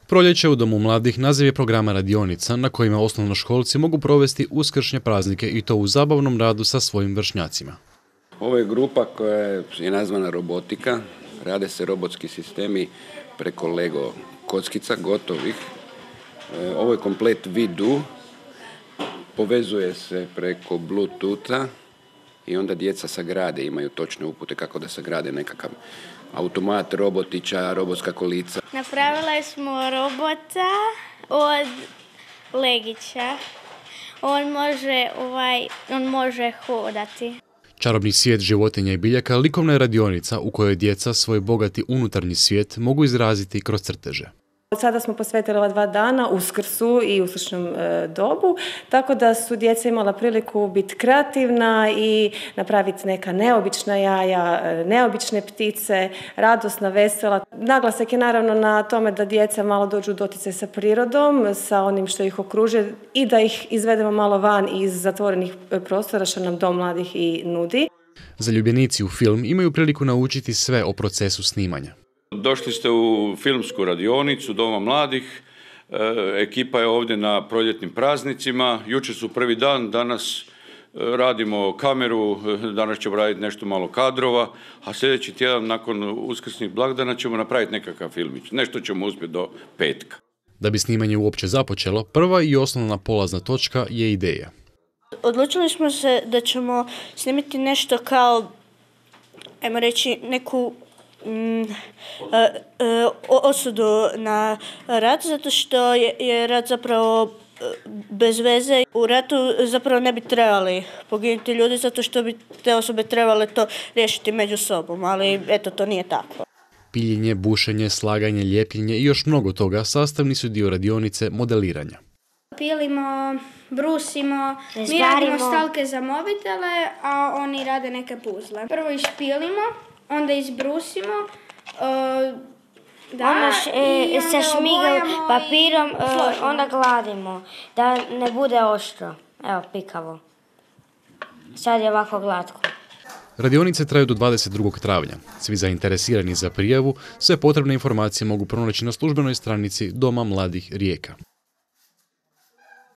Proljeće u Domu mladih naziv je programa radionica na kojima osnovnoškolci mogu provesti uskršnje praznike i to u zabavnom radu sa svojim vršnjacima. Ovo je grupa koja je nazvana robotika. Rade se robotski sistemi preko Lego kockica, gotovih. Ovo je komplet vidu. Povezuje se preko Bluetootha i onda djeca sagrade, imaju točne upute kako da sagrade nekakav automat, robotića, robotska kolica. Napravili smo robota od legića. On može hodati. Čarobni svijet životinja i biljaka likovna je radionica u kojoj djeca svoj bogati unutarnji svijet mogu izraziti kroz crteže. Sada smo posvetili ova 2 dana Uskrsu i uskršnjem dobu, tako da su djeca imala priliku biti kreativna i napraviti neka neobična jaja, neobične ptice, radosna, vesela. Naglasak je naravno na tome da djeca malo dođu u doticaj sa prirodom, sa onim što ih okružuje i da ih izvedemo malo van iz zatvorenih prostora što nam Dom mladih i nudi. Zaljubljenici u film imaju priliku naučiti sve o procesu snimanja. Došli ste u filmsku radionicu Doma mladih, ekipa je ovdje na proljetnim praznicima, jučer su prvi dan, danas radimo kameru, danas ćemo raditi nešto malo kadrova, a sljedeći tjedan nakon uskrsnih blagdana ćemo napraviti nekakav filmić, nešto ćemo uspjeti do petka. Da bi snimanje uopće započelo, prva i osnovna polazna točka je ideja. Odlučili smo se da ćemo snimiti nešto kao, ajmo reći, neku osudu na rat, zato što je rat zapravo bez veze. U ratu zapravo ne bi trebali poginuti ljudi, zato što bi te osobe trebale to riješiti među sobom, ali eto, to nije tako. Piljenje, bušenje, slaganje, ljepljenje i još mnogo toga sastavni su dio radionice modeliranja. Pilimo, brusimo, mi radimo stalke za mobitele, a oni rade neke puzle. Prvo išpilimo, onda izbrusimo, onda se šmiga papirom, onda gladimo, da ne bude oštro, evo pikavo. Sad je ovako glatko. Radionice traju do 22. travnja. Svi zainteresirani za prijavu sve potrebne informacije mogu pronaći na službenoj stranici Doma mladih Rijeka.